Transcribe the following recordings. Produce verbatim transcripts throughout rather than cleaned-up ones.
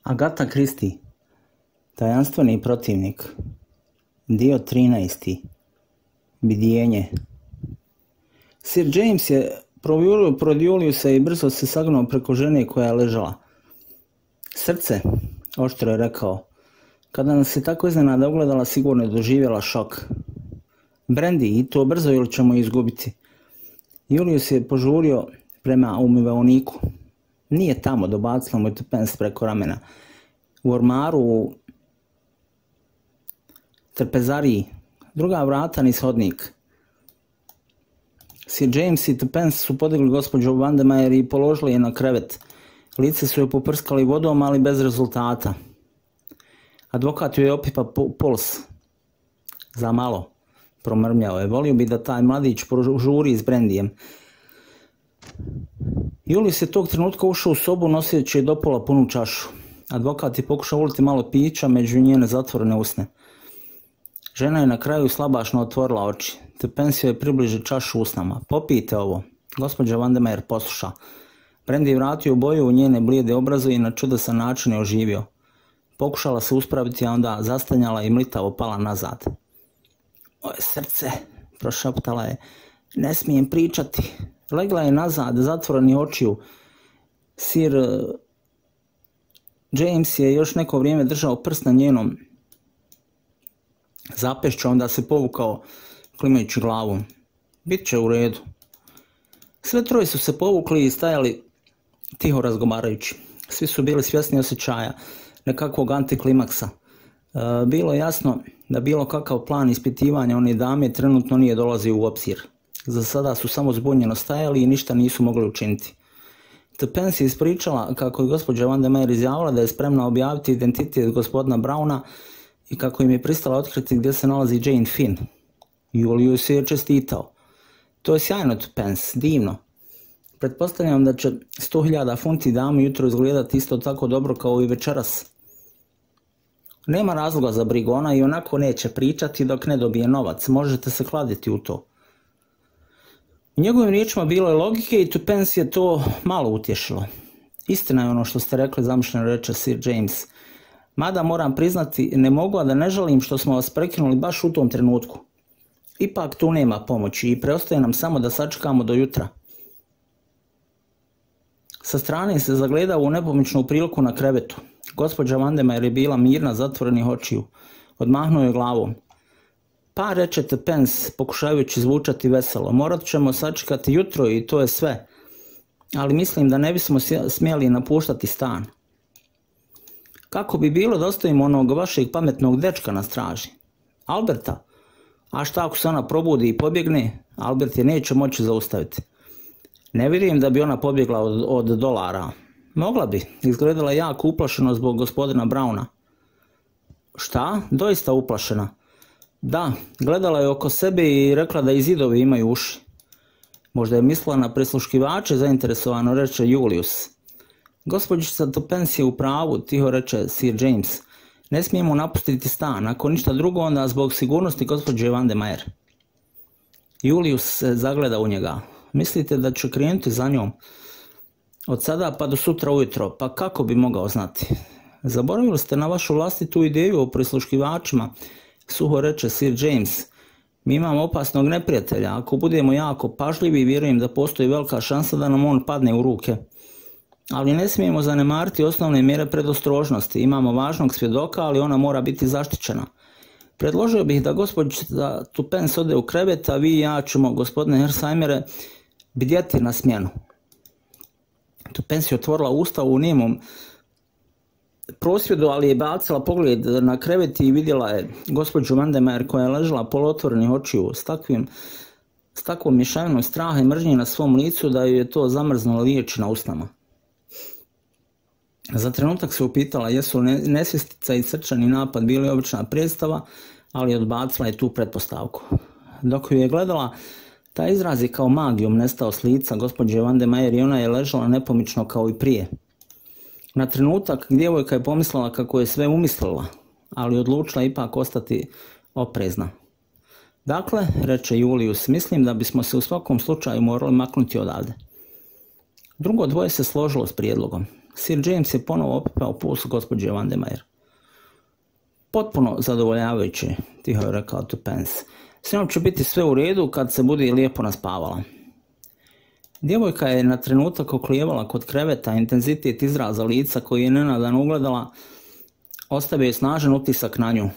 Agatha Christie, tajanstveni protivnik, dio trinaesti. Bdjenje. Sir James je prodjulio se i brzo se sagnuo preko žene koja je ležala. Srce, oštro je rekao, kada nas je tako iznenada ugledala, sigurno je doživjela šok. Brandy, i to brzo ili ćemo izgubiti. Julius je požurio prema umivaoniku. Nije tamo, dobacila mu je Tuppence preko ramena. U ormaru, u trpezariji, druga vrata niz hodnik. Sir James i Tuppence su podigli gospođu Vandermeyer i položili je na krevet. Lice su joj poprskali vodom, ali bez rezultata. Advokat joj je opipa puls. Za malo, promrmljao je. Volio bi da taj mladić požuri s Brandyjem. Julius je tog trenutka ušao u sobu noseći do pola punu čašu. Advokat je pokušao uliti malo pića među njene zatvorene usne. Žena je na kraju slabašno otvorila oči. Tuppence je približi čašu usnama. Popijte ovo. Gospođa Vandermeyer posluša. Brandy je vratio boju u njene blijede obraze i na čudesan način je oživio. Pokušala se uspraviti, a onda zastanjala i mlitavo pala nazad. Moje srce, prošaptala je. Ne smijem pričati. Legla je nazad, zatvoreni očiju. Sir James je još neko vrijeme držao prst na njenom zapešću, onda se povukao klimajući glavom. Bit će u redu. Sve troje su se povukli i stajali tiho razgovarajući. Svi su bili svjesni osjećaja nekakvog antiklimaksa. E, bilo je jasno da bilo kakav plan ispitivanja one dame trenutno nije dolazio u obzir. Za sada su samo zbunjeno stajali i ništa nisu mogli učiniti. Tuppence je ispričala kako je gospođa Vandermeyer izjavila da je spremna objaviti identitet gospodina Browna i kako im je pristala otkriti gdje se nalazi Jane Finn. Julius je čestitao. To je sjajno, Tuppence, divno. Pretpostavljam da će sto hiljada funti dami jutro izgledati isto tako dobro kao i večeras. Nema razloga za brigu, ona i onako neće pričati dok ne dobije novac, možete se kladiti u to. U njegovim riječima bilo je logike i Tuppence je to malo utješilo. Istina je ono što ste rekli, zamišljeno reče Sir James. Mada moram priznati, ne mogu a da ne žalim što smo vas prekinuli baš u tom trenutku. Ipak tu nema pomoći i preostaje nam samo da sačekamo do jutra. Sa strane se zagledao u nepomičnu priliku na krevetu. Gospođa Vandermeyer je bila mirna, zatvorenih očiju. Odmahnuo je glavom. Pa, reče Tuppence, pokušavajući zvučati veselo, morat ćemo sačekati jutro i to je sve. Ali mislim da ne bismo smjeli napuštati stan. Kako bi bilo da ostavimo onog vašeg pametnog dečka na straži? Alberta? A šta ako se ona probudi i pobjegne? Albert je neće moći zaustaviti. Ne vjerujem da bi ona pobjegla od, od dolara. Mogla bi, izgledala jako uplašeno zbog gospodina Browna. Šta? Doista uplašena. Da, gledala je oko sebe i rekla da i zidovi imaju uši. Možda je mislila na prisluškivače, zainteresovano reče Julius. Gospođica Tuppence je u pravu, tiho reče Sir James. Ne smijemo napustiti stan, ako ništa drugo onda zbog sigurnosti gospođe Vandermeyer. Julius se zagleda u njega. Mislite da će krenuti za njom? Od sada pa do sutra ujutro, pa kako bi mogao znati? Zaboravili ste na vašu vlastitu ideju o prisluškivačima, suho reče Sir James. Mi imamo opasnog neprijatelja, ako budemo jako pažljivi, vjerujem da postoji velika šansa da nam on padne u ruke. Ali ne smijemo zanemariti osnovne mjere predostrožnosti. Imamo važnog svjedoka, ali ona mora biti zaštićena. Predložio bih da gospođa Tuppence ode u krevet, a vi i ja ćemo, gospodine Hersheimere, bdjeti na smjenu. Tuppence je otvorila usta u nemom prosvjedu, ali je bacila pogled na krevet i vidjela je gospođu Vandermeyer koja je ležala polotvorenih očiju s takvim s takvom mješavinom straha i mržnje na svom licu da ju je to zamrznulo riječi na usnama. Za trenutak se upitala jesu li nesvjestica i srčani napad bili obična predstava, ali odbacila je tu pretpostavku. Dok ju je gledala, taj izraz je kao magijom nestao s lica gospođe Vandermeyer i ona je ležala nepomično kao i prije. Na trenutak djevojka je pomislila kako je sve umislila, ali odlučila ipak ostati oprezna. Dakle, reče Julius, mislim da bismo se u svakom slučaju morali maknuti odavde. Drugo dvoje se složilo s prijedlogom. Sir James je ponovo opipao puls gospođe Vandermeyer. Potpuno zadovoljavajuće, tiho je rekao Tuppence. S njom će biti sve u redu kad se bude lijepo naspavala. Djevojka je na trenutak oklijevala kod kreveta, intenzitet izraza lica koji je nenadan ugledala ostavio je snažan utisak na nju.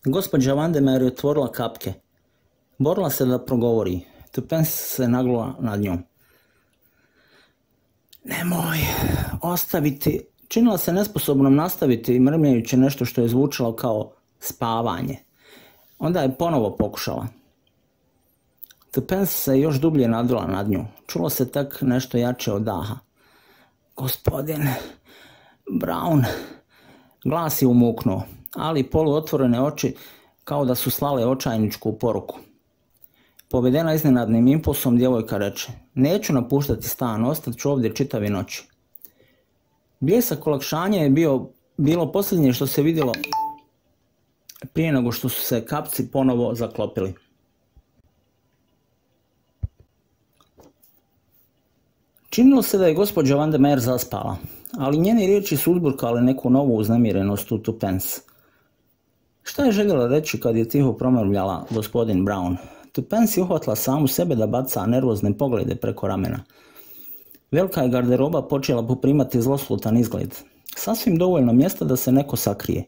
Gospođa Vandermeyer je otvorila kapke. Borila se da progovori. Tuppence se naglula nad njom. Nemoj ostaviti. Činila se nesposobnom nastaviti mrmljajući nešto što je zvučalo kao spavanje. Onda je ponovo pokušala. Tuppence se još dublje nadvila nad nju. Čulo se tak nešto jače od daha. Gospodin Brown. Glas je umuknuo, ali poluotvorene oči kao da su slale očajničku poruku. Povedena iznenadnim impulsom, djevojka reče: neću napuštati stan, ostat ću ovdje čitavi noći. Bljesak olakšanja je bio, bilo posljednje što se vidjelo prije nego što su se kapci ponovo zaklopili. Činilo se da je gospođa Vandermeyer zaspala, ali njene riječi su uzburkale neku novu uznemirenost u Tuppence. Šta je željela reći kad je tiho promrmljala gospodin Brown? Tuppence je uhvatila samu sebe da baca nervozne poglede preko ramena. Velika je garderoba počela poprimati zloslutan izgled. Sasvim dovoljno mjesta da se neko sakrije.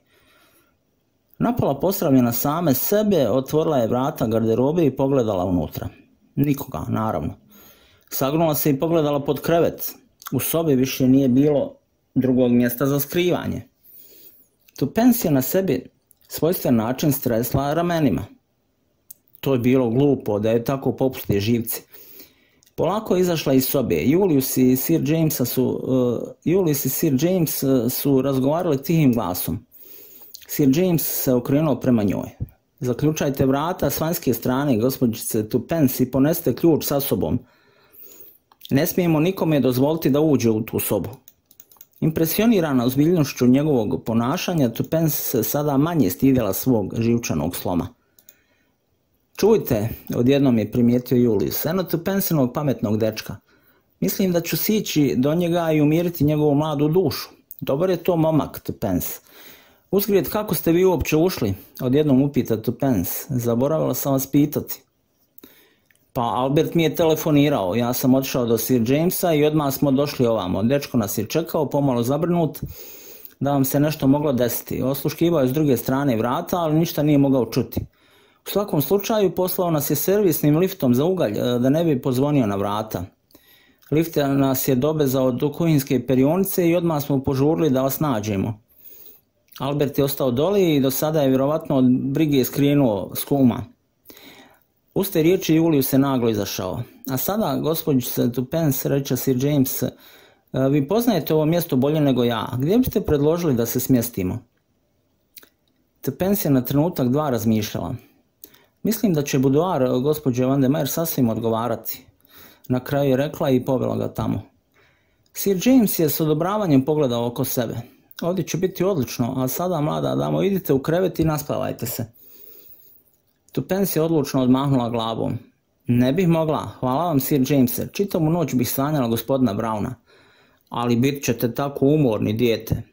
Napala posravljena same sebe, otvorila je vrata garderobe i pogledala unutra. Nikoga, naravno. Sagnula se i pogledala pod krevet. U sobi više nije bilo drugog mjesta za skrivanje. Tuppence je na sebi svojstven način stresla ramenima. To je bilo glupo da je tako popuste živci. Polako je izašla iz sobe. Julius i Sir James su, uh, Julius i Sir James su razgovarali tihim glasom. Sir James se okrenuo prema njoj. Zaključajte vrata s vanjske strane, gospođice Tuppence, i ponesite ključ sa sobom. Ne smijemo nikome dozvoliti da uđe u tu sobu. Impresionirana ozbiljnošću njegovog ponašanja, Tuppence se sada manje stidjela svog živčanog sloma. Čujte, odjednom je primijetio Julius, eno Tuppenceovog pametnog dečka. Mislim da ću sići do njega i umiriti njegovu mladu dušu. Dobar je to momak, Tuppence. Uzgred, kako ste vi uopće ušli? Odjednom upita Tuppence. Zaboravila sam vas pitati. Pa Albert mi je telefonirao, ja sam otišao do Sir Jamesa i odmah smo došli ovamo. Dečko nas je čekao, pomalo zabrnut, da vam se nešto moglo desiti. Osluškivao je s druge strane vrata, ali ništa nije mogao čuti. U svakom slučaju poslao nas je servisnim liftom za ugalj, da ne bi pozvonio na vrata. Lift nas je dobezao do kuhinjske perionice i odmah smo požurili da vas nađemo. Albert je ostao doli i do sada je vjerovatno od brige skrenuo s kuma. Uz te riječi Julius se naglo izašao. A sada, gospođice Tuppence, reče Sir James, vi poznajete ovo mjesto bolje nego ja. Gdje biste predložili da se smjestimo? Tuppence je na trenutak dva razmišljala. Mislim da će buduar gospođe Vandermeyer sasvim odgovarati. Na kraju je rekla i povela ga tamo. Sir James je s odobravanjem pogledao oko sebe. Ovdje će biti odlično, a sada, mlada damo, idite u krevet i naspavajte se. Tuppence je odlučno odmahnula glavom. Ne bih mogla, hvala vam Sir Jamese, čitavu noć bih sanjala gospodina Browna. Ali bit ćete tako umorni, dijete.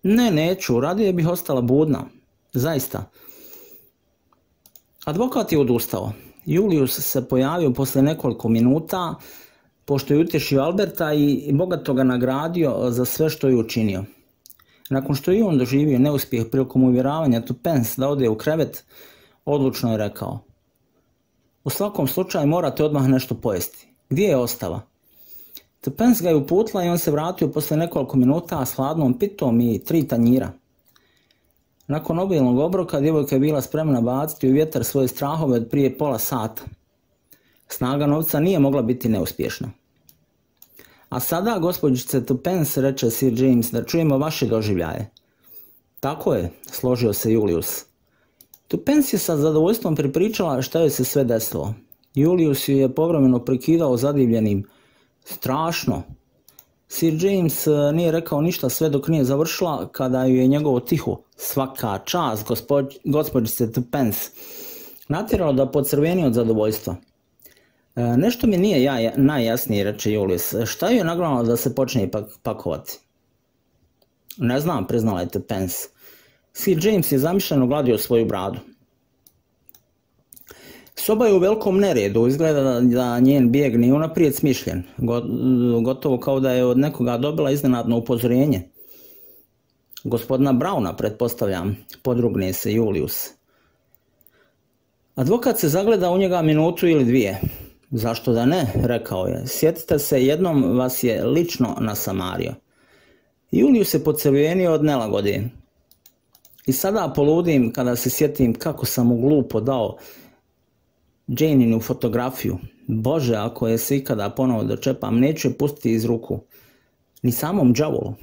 Ne, neću, radije bih ostala budna. Zaista. Advokat je odustao. Julius se pojavio posle nekoliko minuta, pošto je utješio Alberta i bogato ga nagradio za sve što je učinio. Nakon što je on doživio neuspjeh prilikom uvjeravanja Tuppence da ode u krevet, odlučno je rekao: u svakom slučaju morate odmah nešto pojesti. Gdje je ostava? Tuppence ga je uputila i on se vratio posle nekoliko minuta s hladnom pitom i tri tanjira. Nakon obilnog obroka djevojka je bila spremna baciti u vjetar svoje strahove od prije pola sata. Snaga novca nije mogla biti neuspješna. A sada, gospođice Tuppence, reče Sir James, da čujemo vaše doživljaje. Tako je, složio se Julius. Tuppence je sa zadovoljstvom pripričala šta joj se sve desilo. Julius ju je povremeno prekidao zadivljenim. Strašno. Sir James nije rekao ništa sve dok nije završila, kada ju je njegovo tiho, svaka čast gospođ, gospođice Tuppence, natjeralo da podcrveni od zadovoljstva. E, nešto mi nije ja, najjasnije, reče Julius. Šta je nagnalo da se počne pak, pakovati? Ne znam, priznala je Pence. Sir James je zamišljeno gladio svoju bradu. Soba je u velikom neredu, izgleda da, da njen bijeg nije unaprijed smišljen, gotovo kao da je od nekoga dobila iznenadno upozorenje. Gospodina Brauna, pretpostavljam, podrugne se Julius. Advokat se zagleda u njega minutu ili dvije. Zašto da ne, rekao je. Sjetite se, jednom vas je lično nasamario. Julius se pocrvenio od nelagode. I sada poludim kada se sjetim kako sam mu glupo dao Janinu fotografiju. Bože, ako je se ikada ponovo dočepam, neću je pustiti iz ruku. Ni samom đavolu.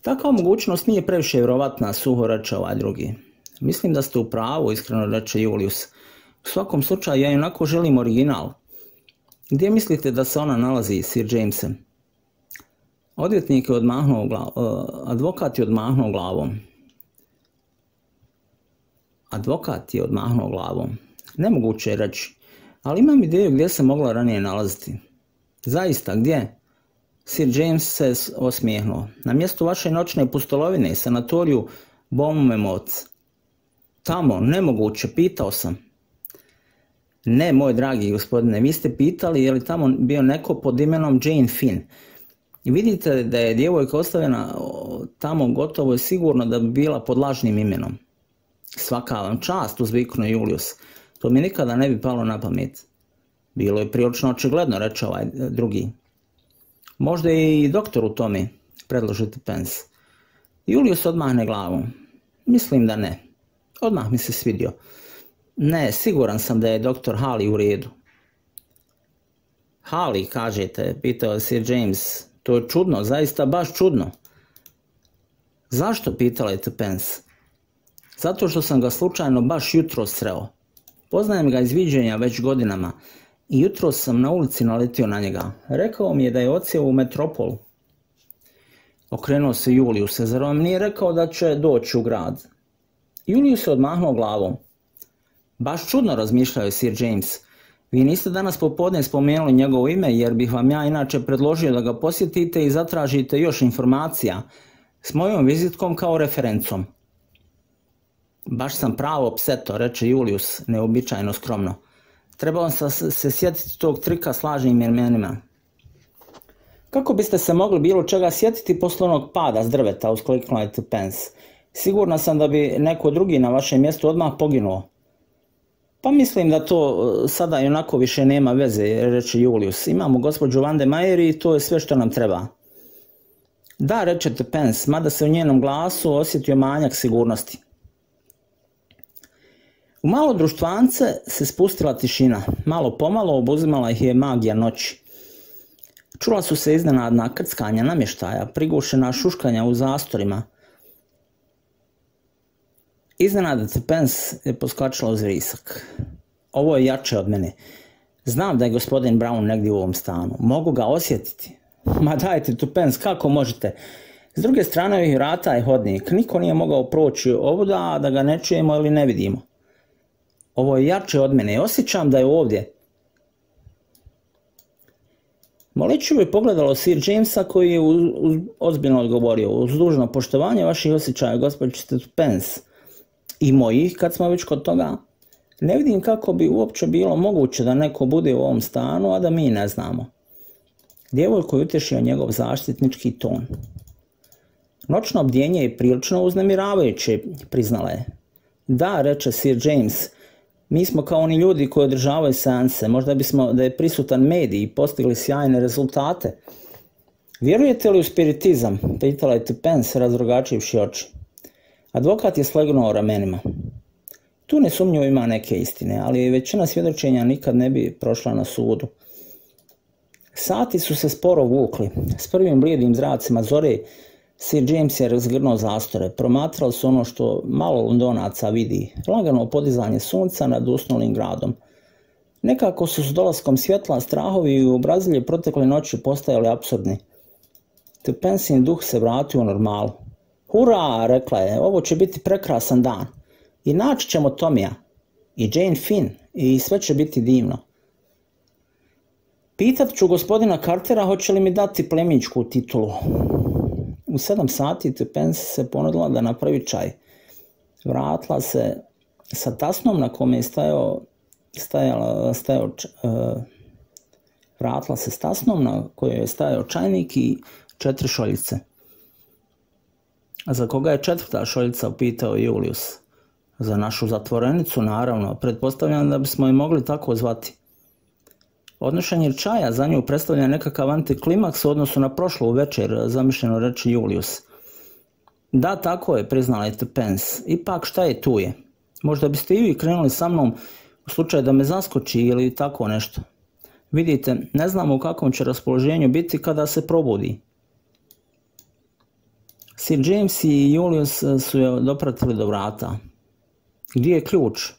Takva mogućnost nije previše vjerovatna, suho reče ovaj drugi. Mislim da ste u pravu, iskreno reče Julius. U svakom slučaju, ja onako želim original. Gdje mislite da se ona nalazi, Sir Jamese? Odvjetnik je odmahnuo glavom. Advokat je odmahnuo glavom. Advokat je odmahnuo glavom. Nemoguće je reći, ali imam ideju gdje se mogla ranije nalaziti. Zaista, gdje? Sir James se osmijehnuo. Na mjestu vaše noćne pustolovine, sanatoriju Bournemouth. Tamo, nemoguće, pitao sam. Ne, moj dragi gospodine, vi ste pitali je li tamo bio neko pod imenom Jane Finn. I vidite da je djevojka ostavljena tamo, gotovo je sigurno da bi bila pod lažnim imenom. Svaka vam čast, uzviknuo Julius. To mi nikada ne bi palo na pamet. Bilo je prilično očigledno, reče ovaj drugi. Možda je i doktor u tome, predložite Pence. Julius odmahne glavom. Mislim da ne. Odmah mi se svidio. Ne, siguran sam da je doktor Halley u redu. Halley, kažete, pitao je Sir James. To je čudno, zaista baš čudno. Zašto, pitala je Pence? Zato što sam ga slučajno baš jutro sreo. Poznajem ga iz viđenja već godinama i jutro sam na ulici naletio na njega. Rekao mi je da je odsjeo u metropolu. Okrenuo se Julius, zar vam nije rekao da će doći u grad? Julius se odmahnuo glavom. Baš čudno, razmišljao je Sir James. Vi niste danas popodne spomenuli njegovo ime, jer bih vam ja inače predložio da ga posjetite i zatražite još informacija s mojom vizitkom kao referencom. Baš sam pravo pseto, reče Julius, neobičajno skromno. Trebao sam se sjetiti tog trika s lažnim imenima. Kako biste se mogli bilo čega sjetiti posle onog pada s drveta, uskliknula je Pence. Sigurna sam da bi neko drugi na vašem mjestu odmah poginuo. Pa mislim da to sada i onako više nema veze, reče Julius. Imamo gospođu Van de Mayer i to je sve što nam treba. Da, reče Pence, mada se u njenom glasu osjetio manjak sigurnosti. U malo društvance se spustila tišina. Malo pomalo obuzimala ih je magija noći. Čula su se iznenadna krckanja namještaja, prigušena šuškanja u zastorima. Iznenada Pence je poskačila uz vrisak. Ovo je jače od mene. Znam da je gospodin Brown negdje u ovom stanu. Mogu ga osjetiti. Ma dajte Pence, kako možete? S druge strane ovih vrata je hodnik. Niko nije mogao proći ovuda da ga ne čujemo ili ne vidimo. Ovo je jače od mene. Osjećam da je ovdje. Moliću je pogledalo Sir Jamesa koji je uz, uz, ozbiljno odgovorio. Uz dužno poštovanje vaših osjećaja, gospođice Pence, i mojih, kad smo već kod toga, ne vidim kako bi uopće bilo moguće da neko bude u ovom stanu, a da mi ne znamo. Djevojko je utješio njegov zaštitnički ton. Noćno bdjenje je prilično uznemiravajuće, priznala je. Da, reče Sir James, mi smo kao oni ljudi koji održavaju seanse, možda bismo da je prisutan medij i postigli sjajne rezultate. Vjerujete li u spiritizam? Pitala je Pence razrogačivši oči. Advokat je slegnuo ramenima. Tu nesumnjivo ima neke istine, ali većina svjedočenja nikad ne bi prošla na sudu. Sati su se sporo vukli. S prvim blijedim zracima zore Sir James je razgrnuo zastore. Promatrali su ono što malo Londonaca vidi. Lagano podizanje sunca nad usnulim gradom. Nekako su s dolaskom svjetla strahovi i obrazilje protekle noći postajali apsurdni. Pensin duh se vratio u normalu. Hurra, rekla je, ovo će biti prekrasan dan. I naći ćemo Tomija, i Jane Finn, i sve će biti divno. Pitat ću gospodina Cartera hoće li mi dati plemićku titulu. U sedam sati Tuppence se ponudila da napravi čaj. Vratila se sa tasnom na kome je stajao, stajala, stajao uh, vratila se s tasnom na kojoj je stajao čajnik i četiri šoljice. A za koga je četvrta šoljica, upitao Julius. Za našu zatvorenicu, naravno, pretpostavljam da bismo je mogli tako zvati. Odnošenje čaja za nju predstavlja nekakav antiklimaks u odnosu na prošlu večer, zamišljeno reći Julius. Da, tako je, priznala je Tuppence. Ipak šta je tu je? Možda biste i vi krenuli sa mnom u slučaju da me zaskoči ili tako nešto. Vidite, ne znamo u kakvom će raspoloženju biti kada se probudi. Sir James i Julius su je dopratili do vrata. Gdje je ključ?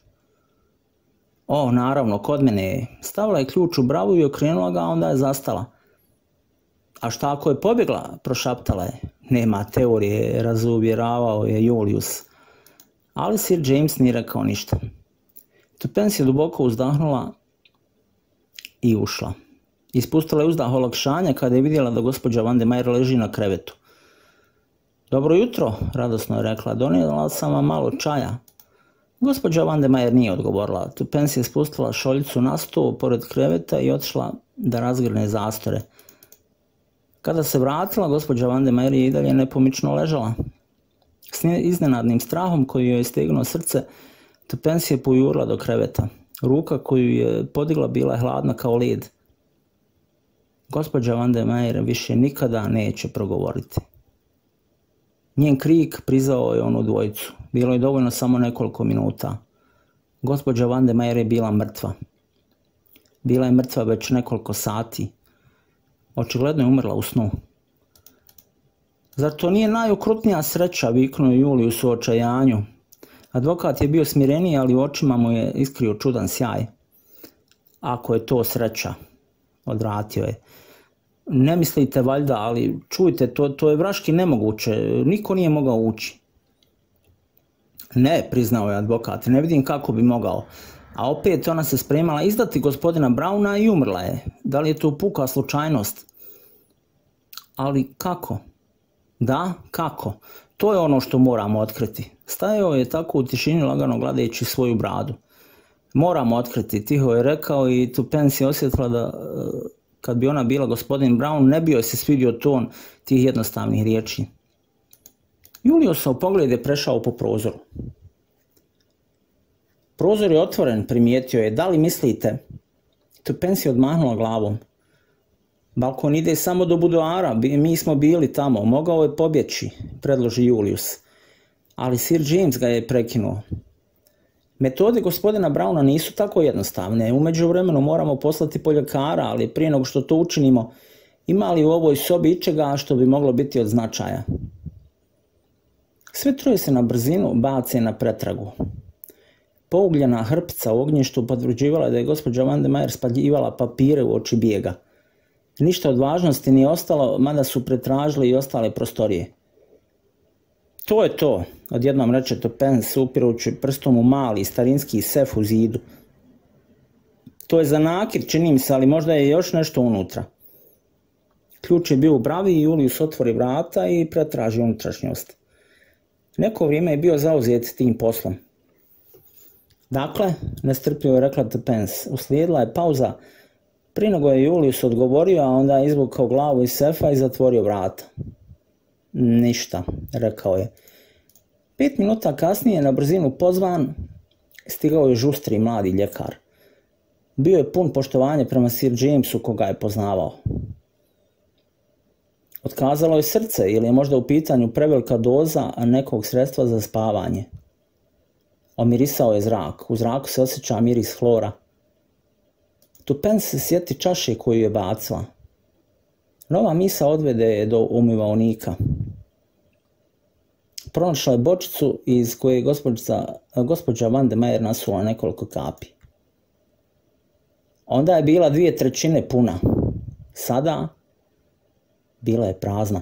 O, naravno, kod mene je. Stavila je ključ u bravu i okrenula ga, a onda je zastala. A šta ako je pobjegla? Prošaptala je. Nema teorije, razuvjeravao je Julius. Ali Sir James nije rekao ništa. Tuppence je duboko uzdahnula i ušla. Ispustila je uzdah olakšanja kada je vidjela da gospođa Vandermeyer leži na krevetu. Dobro jutro, radosno je rekla, donijela sam vam malo čaja. Gospođa Vandermeyer nije odgovorila. Tuppence je spustila šoljicu na stol pored kreveta i otišla da razgrne zastore. Kada se vratila, gospođa Vandermeyer je i dalje nepomično ležala. S iznenadnim strahom koji joj je stegnuo srce, Tuppence je pojurila do kreveta. Ruka koju je podigla bila je hladna kao led. Gospođa Vandermeyer više nikada neće progovoriti. Njen krik prizvao je onu dvojicu. Bilo je dovoljno samo nekoliko minuta. Gospođa Vandermeyer je bila mrtva. Bila je mrtva već nekoliko sati. Očigledno je umrla u snu. Zar to nije najokrutnija sreća, viknuo Julius u očajanju. Advokat je bio smireniji, ali u očima mu je iskrio čudan sjaj. Ako je to sreća, odvratio je. Ne mislite valjda, ali čujte, to, to je vraški nemoguće, niko nije mogao ući. Ne, priznao je advokat, ne vidim kako bi mogao. A opet ona se spremala izdati gospodina Browna i umrla je. Da li je to puka slučajnost? Ali kako? Da, kako? To je ono što moramo otkriti. Stajao je tako u tišini lagano gledajući svoju bradu. Moramo otkriti, tiho je rekao i Tuppence je osjetila da kad bi ona bila gospodin Brown ne bi joj se svidio ton tih jednostavnih riječi. Juliusov pogled je prešao po prozoru. Prozor je otvoren, primijetio je. Da li mislite? Tuppence je odmahnula glavom. Balkon ide samo do budoara, mi smo bili tamo, mogao je pobjeći, predloži Julius. Ali Sir James ga je prekinuo. Metode gospodina Browna nisu tako jednostavne. U međuvremenu moramo poslati poljekara, ali prije nego što to učinimo, ima li u ovoj sobi ičega što bi moglo biti od značaja? Sve troje se na brzinu bace na pretragu. Pougljena hrpica u ognjištu potvrđivala da je gospođa Vandermeyer spaljivala papire u oči bijega. Ništa od važnosti nije ostalo, mada su pretražili i ostale prostorije. To je to, odjednom reče Tuppence upirući prstom u mali starinski sef u zidu. To je za nakit, čini mi se, ali možda je još nešto unutra. Ključ je bio u bravi i Julius otvori vrata i pretraži unutrašnjost. Neko vrijeme je bio zauzet tim poslom. Dakle, nestrpljivo je rekla Tuppence, uslijedila je pauza. Prije nego je Julius odgovorio, a onda je izvukao glavu iz sefa i zatvorio vrata. Ništa, rekao je. Pet minuta kasnije na brzinu pozvan stigao je žustri mladi ljekar. Bio je pun poštovanja prema Sir Jamesu koga je poznavao. Otkazalo je srce ili je možda u pitanju prevelika doza nekog sredstva za spavanje. Omirisao je zrak, u zraku se osjeća miris hlora. Tuppence se sjeti čaše koju je bacila. Nova misa odvede je do umivaonika. Pronašla je bočicu iz koje je gospođa, gospođa Vandermeyer nasula nekoliko kapi. Onda je bila dvije trećine puna. Sada bila je prazna.